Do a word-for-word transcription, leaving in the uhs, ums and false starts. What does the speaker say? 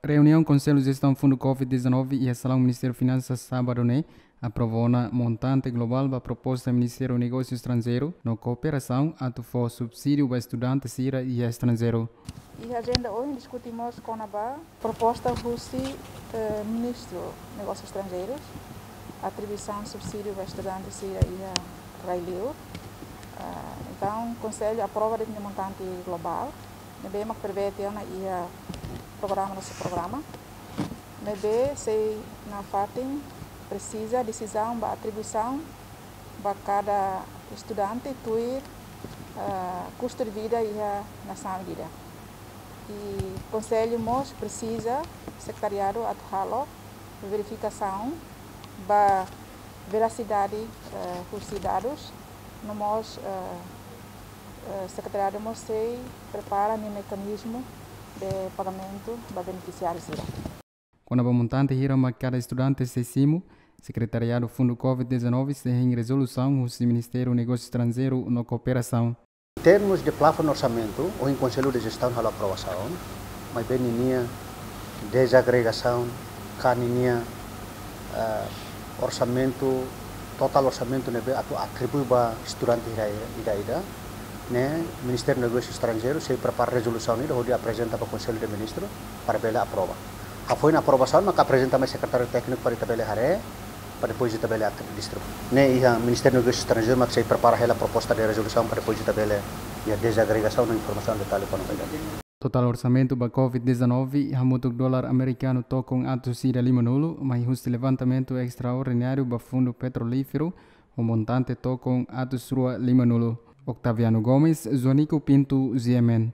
Reuniaun Konsellu Jestaun Fundu Covid dezanove iha salaun Ministériu Finansas sábadu ne'e aprova ona montante globál ba proposta Ministériu Negósiu Estranjeiru no Kooperasaun atu fó subsídiu ba estudante sira iha estranjeiru. Iha ajenda ohin diskute mós kona-ba proposta husi, eh, Ministru Negósiu Estranjeiru, atribuisaun subsídiu ba estudante sira iha rai-li'ur. Ah, entaun, Konsellu aprova de'it nia montante globál ne'ebé mak prevee tiha ona iha programa, nosso programa. Ne'ebé sei nafatin presiza desizaun ba atribuisaun ba kada estudante tuir, ah, kustu de vida iha nasaun ida. I Konsellu mós presiza sekretariadu atu halo verifikasaun ba verasidade, eh, husi dadus, no mós, eh, eh, sekretariadu mós sei prepara nia mekanizmu de pagamentu ba benefisiáriu sira. Kona-ba montante hira mak kada estudante sei simu, Sekretariadu Fundu Covid dezanove sei hein rezolusaun husi Ministériu Negósiu Estranjeiru no Kooperasaun. Em termos de plafon orsamentu, ohin Konsellu de Jestaun halo aprovasaun, maibé ninia dezagregasaun, ka ninia, eh, orsamentu, totál orsamentu ne'ebé atu atribui ba estudante ida-ida, ne'e Ministériu Negósiu Estranjeiru sei prepara rezolusaun ida hodi aprezenta ba Konsellu de Ministru para bele aprova. Hafoin aprovasaun maka aprezenta mai sekretáriu tékniku para ita bele haree, para depois ita bele atu distribui. Ne'e iha Ministériu Negósiu Estranjeiru mak sei prepara hela proposta de rezolusaun para depois ita bele iha dezagregasaun no informasaun detalhe kona-ba ida. Totál orsamentu ba Covid dezanove hamutuk dolar amerikanu tokon atus ida limanulu, mai husi levantamentu estraordináriu ba Fundu Petrolíferu ho montante tokon atus rua limanulu. Octaviano Gomes, Joanico Pinto, G M N.